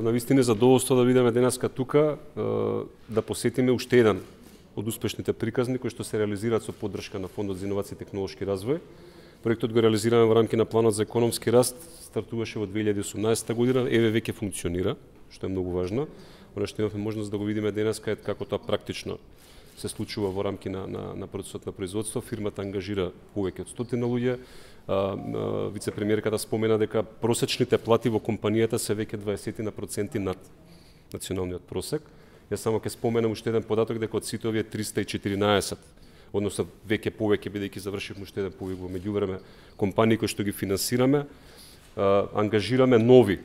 навистина задоволство да видиме денеска тука, да посетиме уште еден од успешните приказни кои што се реализираат со поддршка на Фондот за иновации и технолошки развој. Проектот го реализираме во рамки на планот за економски раст, стартуваше во 2018 година, еве веќе функционира, што е многу важно. Оно што имавме можност да го видиме денеска е како тоа практично се случува во рамки на процесот на производство. Фирмата ангажира повеќе од 100 луѓе. Вице-премиерката спомена дека просечните плати во компанијата се веќе 20% над националниот просек. Јас само ќе споменам уште еден податок дека од сите овие 314, односно веќе повеќе бидејќи завршивме уште еден повик во меѓувреме компании кои што ги финансираме, ангажираме нови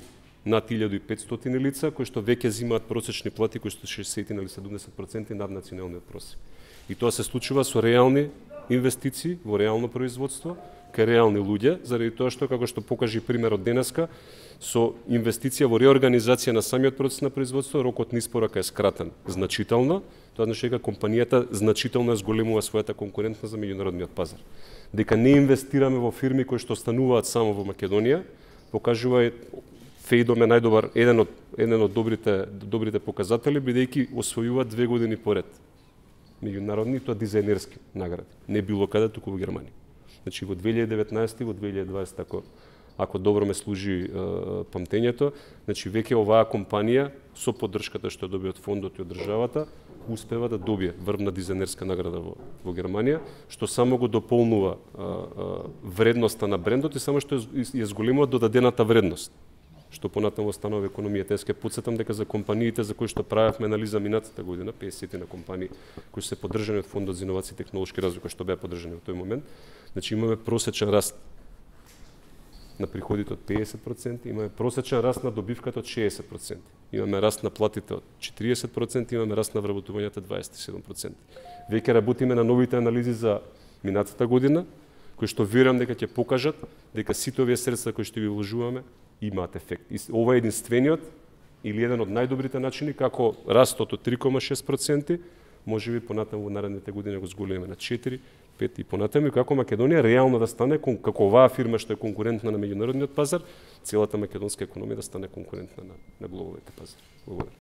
над 1500 лица кои што веќе земаат просечни плати кои што 60 или 70% над националниот просек. И тоа се случува со реални инвестиции во реално производство, кај реални луѓе, заради тоа што, како што покажи примерот денеска, со инвестиција во реорганизација на самиот процес на производство, рокот на испорака е скратен значително. Тоа значи дека компанијата значително зголемува својата конкурентност за меѓународниот пазар. Дека не инвестираме во фирми кои што остануваат само во Македонија, покажува Феидом е најдобар, еден од добрите показатели, бидејќи освојува 2 години поред меѓународни, тоа дизајнерски награди. Не било каде, туку во Германија. Значи во 2019 и во 2020, ако добро ме служи памтењето, значи веќе оваа компанија со поддршката што доби од фондот и од државата успева да добие врвна дизајнерска награда во Германија, што само го дополнува вредноста на брендот и само што ја зголемува додадената вредност, што понатаму станува економијата. Јас ќе потсетам дека за компаниите за кои што правевме анализа минатата година, 50 на компании кои се поддржани од Фондот за иновации и технолошки развој, кои што беа поддржани во тој момент, значи имаме просечен раст на приходите од 50%, имаме просечен раст на добивката од 60%, имаме раст на платите од 40%, имаме раст на вработувањето 27%. Веќе работиме на новите анализи за минатата година, кои што верувам дека ќе покажат дека сите овие средства кои што ги вложуваме имаат ефект. И ова е единствениот или еден од најдобрите начини како растот од 3,6% можеби понатаму во наредните години го зголемиме на 4, 5 и понатаму, и како Македонија реално да стане, како оваа фирма што е конкурентна на меѓународниот пазар, целата македонска економија да стане конкурентна на глобалните пазари. Благодарам.